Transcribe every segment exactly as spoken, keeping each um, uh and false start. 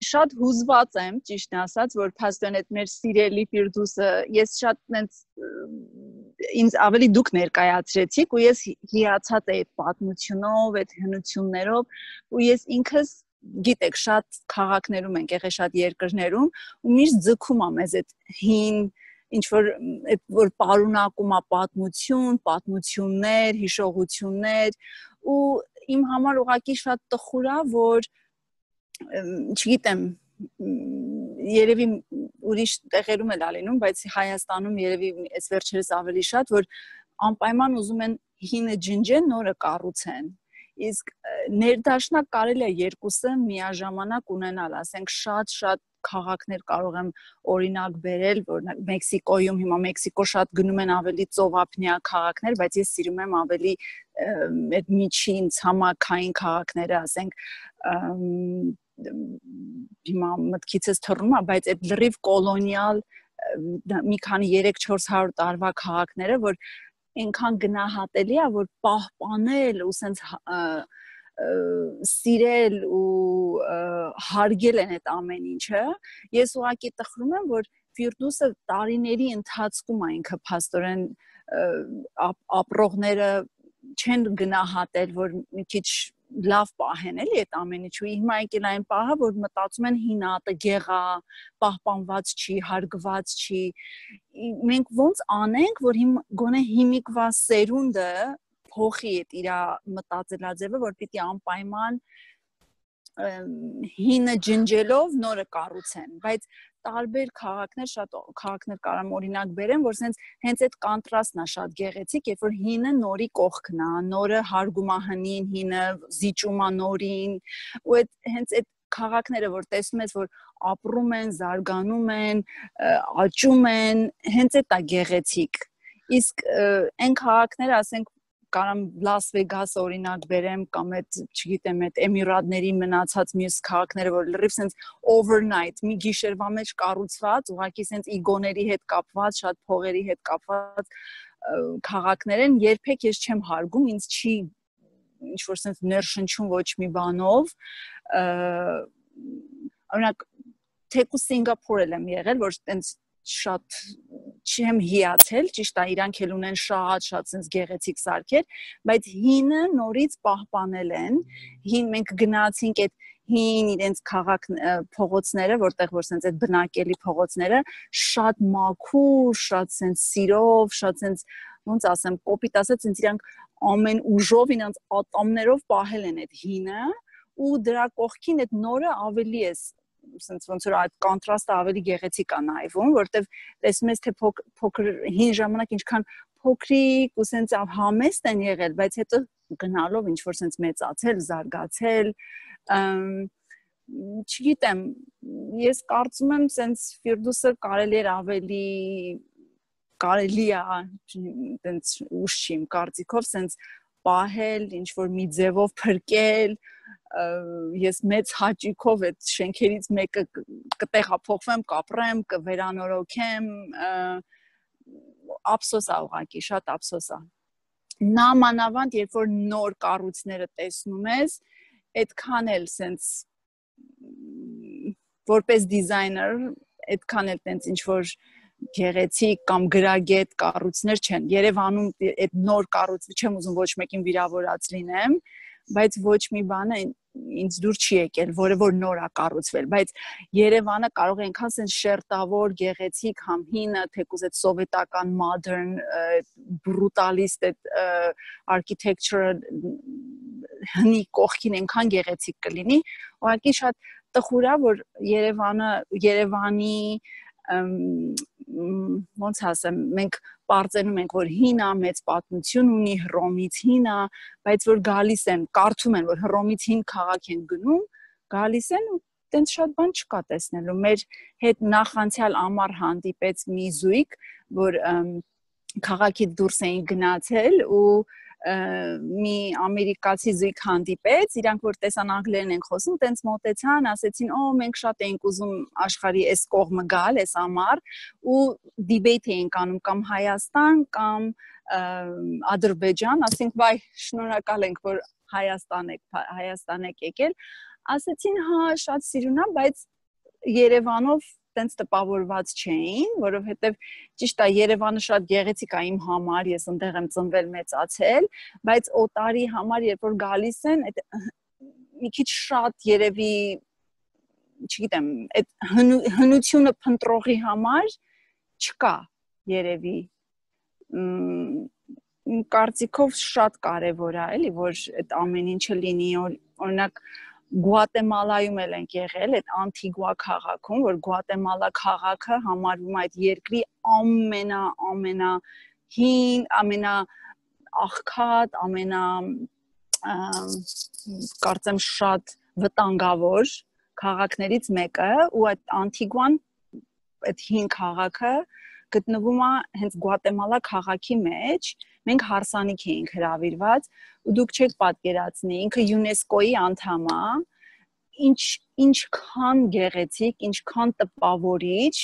Շատ հուզված եմ, ճիշտն ասած, որ փաստորեն այդ մեր սիրելի Ֆիրդուսը, ես շատ նենց ինձ ավելի դուք ներկայացրեցիք ու ես հիացած էի այդ պատմությունով, այդ հնություններով ու ես ինքս գիտեք, շատ քաղաքներում ենք եղել, շատ երկրներում ու միշտ ձգում եմ մեզ այդ հին ինչ որ այդ որ պարունակում է պատմություն, պատմություններ, հիշողություններ ու իմ համար ուղղակի շատ տխուր է, որ չգիտեմ, երևի ուրիշ տեղերում էլ ալինում, բայց Հայաստանում երևի այս վերջերս ավելի շատ, որ անպայման ուզում են հինը ջնջեն, նորը կառուցեն։ Իսկ ներդաշնակ կարելի է երկուսը միաժամանակ ունենալ, ասենք շատ-շատ քաղաքներ կարող եմ օրինակ բերել, որ Մեքսիկոյում հիմա Մեքսիկո շատ գնում են ավելի ծովափնյա քաղաքներ, բայց ես սիրում եմ ավելի այդ միջին ցամաքային քաղաքները, ասենք հիմա մտքիցս թռնում է, բայց այդ լրիվ կոլոնիալ մի քանի երեք-չորս հարյուր տարվա քաղաքները, որ այնքան գնահատելի է, որ պահպանել ու սենց սիրել ու հարգել են այդ ամեն ինչը, ես ուղղակի տխրում եմ, որ Ֆիրդուսը տարիների ընթացքում է ինքը փաստորեն ապրողները չեն գնահատել, որ մի քիչ լավ պահեն էլի այդ ամեն ինչ ու հիմա եկել այն պահը, որ մտածում են հինատը գեղա, պահպանված չի, հարգված չի։ Մենք ոնց անենք, որ հիմա գոնե հիմիկվա սերունդը փոխի այդ իր մտածելաձևը, որ պիտի անպայման հինը ջնջելով նորը կառուցեն, բայց տարբեր քաղաքներ, շատ քաղաքներ կարամ օրինակ բերեմ, որ սենց հենց այդ կոնտրաստն է շատ գեղեցիկ, երբ որ հինը նորի կողքն է, նորը հարգում է հնին, հինը զիջում է նորին, ու այդ հենց այդ քաղաքները, որ տեսնում ես, որ ապրում են, զարգանում են, աճում են, հենց այդ է գեղեցիկ։ Իսկ այն քաղաքները, ասենք կարամ Լաս Վեգասը օրինակ բերեմ կամ այդ, չգիտեմ, այդ Էմիրատների մնացած մյուս քաղաքները, որ լրիվ սենց overnight, մի գիշերվա մեջ կառուցված, ուղղակի սենց իգոների հետ կապված, շատ փողերի հետ կապված քաղաքներ են, երբեք ես չեմ հարգում, ինձ չի ինչ որ սենց ներշնչում ոչ մի բանով, օրինակ թեկուզ Սինգապուրել եմ եղել, որ սենց շատ չեմ հիացել, ճիշտ է, իրանք էլ ունեն շատ-շատ sense գեղեցիկ սարքեր, բայց հինը նորից պահպանել են, հին մենք գնացինք այդ հին իրենց քաղաք փողոցները, որտեղ որ sense այդ բնակելի փողոցները շատ մաքուր, շատ sense սիրով, շատ sense ոնց ասեմ, կոպիտ ասած, sense իրանք ամեն ուժով իրենց ատամներով պահել են այդ հինը ու դրա կողքին այդ նորը ավելի է sense ոնց որ այդ կոնտրաստը ավելի գեղեցիկ է նայվում, որտեվ տեսնում ես թե փոքր հին ժամանակ ինչքան փոքրիկ ու sense համեստ են եղել, բայց հետո գնալով ինչ որ sense մեծացել, զարգացել, չգիտեմ, ես կարծում եմ sense Ֆիրդուսը կարելի էր ավելի կարելի է sense ուշ չի իմ կարծիքով sense պահել, ինչ որ մի ձևով փրկել, ես մեծ հաճույքով այդ շենքերից մեկը կտեղափոխվեմ, կապրեմ, կվերանորոգեմ, ափսոս է ուղղակի, շատ ափսոս է։ Նամանավանդ, երբ որ նոր կառույցները տեսնում ես, այդքան էլ sense որպես դիզայներ, այդքան էլ տենց ինչ որ գեղեցիկ կամ գրագետ կառույցներ չեն։ Երևանում այդ նոր կառույց չեմ ուզում ոչ մեկին վիրավորած լինեմ, բայց ոչ մի բանը ինձ դուր չի եկել, որը որ նոր է կառուցվել, բայց Երևանը կարող է այնքան sense շերտավոր, գեղեցիկ, համ հինը, թեկուզ այդ սովետական modern, brutalist այդ architecture հնի կողքին այնքան գեղեցիկ կլինի, ուղղակի շատ տխուր է, որ Երևանը, Երևանի ոնց ասեմ, մենք պարծենում ենք, որ հինա մեծ պատմություն ունի, Հռոմից հինա, բայց որ գալիս են, կարծում են, որ Հռոմից հին քաղաք են գնում, գալիս են ու տենց շատ բան չկա տեսնելու։ Մեր հետ նախանցյալ ամառ հանդիպեց մի զույգ, որ քաղաքից դուրս էին գնացել ու մի ամերիկացի զույգ հանդիպեց, իրանք որ տեսան անգլերեն են խոսում, տենց մոտեցան, ասեցին, «Օ, մենք շատ էինք ուզում աշխարհի այս կողմը գալ, այս ամառ» ու դիբեյթ էինք անում կամ Հայաստան կամ Ադրբեջան, ասենք, «Վայ, շնորհակալ ենք, որ Հայաստան եք, Հայաստան եք եկել», ասեցին, «Հա, շատ սիրուն է, բայց Երևանով տենց տպավորված չէին, որովհետև ճիշտ է Երևանը շատ գեղեցիկ է իմ համար, ես այնտեղ եմ ծնվել, մեծացել, բայց օտարի համար երբ որ գալիս են, այդ մի քիչ շատ երևի, չգիտեմ, այդ հնությունը փնտրողի համար չկա երևի։ Իմ կարծիքով շատ կարևոր է, էլի, որ այդ ամեն ինչը լինի, օրինակ Գուատեմալայում էլ ենք եղել, այդ Անտիգուա քաղաքում, որ Գուատեմալա քաղաքը համարվում է այդ երկրի ամենա ամենա հին, ամենա աղքատ, ամենա կարծեմ շատ վտանգավոր քաղաքներից մեկը, ու այդ Անտիգուան, այդ հին քաղաքը գտնվում է հենց Գուատեմալա քաղաքի մեջ, մենք հարսանիք էինք հրավիրված, ու դուք չեք պատկերացնի, ինքը ՅՈՒՆԵՍԿՕ-ի անդամ է, ինչ ինչքան գեղեցիկ, ինչքան տպավորիչ,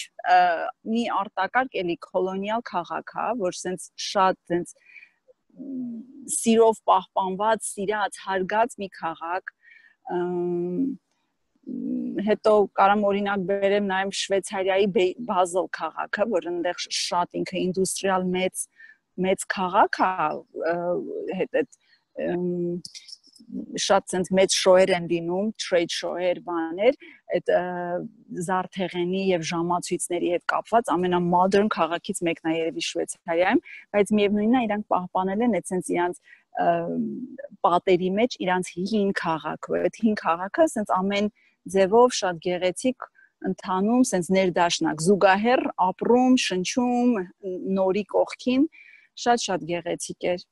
մի արտակարգ էլի կոլոնիալ քաղաք է, որ սենց շատ սենց սիրով պահպանված, սիրած, հարգած մի քաղաք, հետո կարամ օրինակ բերեմ նաև Շվեյցարիայի Բազել քաղաքը, որ այնտեղ շատ ինքը ինդուստրիալ մեծ մեծ քաղաք է, հետ այդ շատ ցենց մեծ շոուեր են լինում, trade show-եր, բաներ, այդ զարդեղենի եւ ժամացույցների հետ կապված ամենամոդեռն քաղաքից մեկն է երևի Շվեյցարիայում, բայց միևնույնն է իրանք պահպանել են այդ ցենց իրանց պատերի մեջ իրանց հին քաղաքը, այդ հին քաղաքը ցենց ամեն ձևով շատ գեղեցիկ ընթանում, ցենց ներդաշնակ, զուգահեռ ապրում, շնչում, նորի կողքին, շատ-շատ գեղեցիկ էր։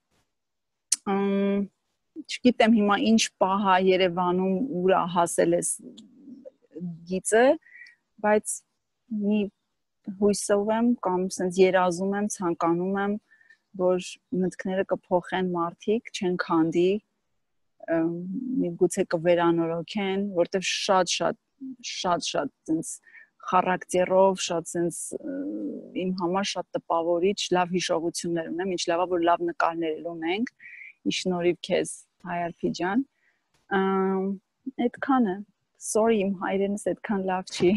Չգիտեմ հիմա ինչ պահ է Երևանում ուր է հասել էս գիծը, բայց մի հույսով եմ կամ սենց երազում եմ, ցանկանում եմ, որ մտքները կփոխեն մարդիկ, չեն քանդի, միգուցե կվերանորոգեն, որտեվ շատ-շատ շատ-շատ սենց խարակտերով, շատ սենց իմ համար շատ տպավորիչ, լավ հիշողություններ ունեմ, ինչ լավա որ լավ նկարներ ունենք, ի շնորհիվ քեզ Հայարփի ջան, այդքանը, sorry իմ հայրենս այդքան լավ չի։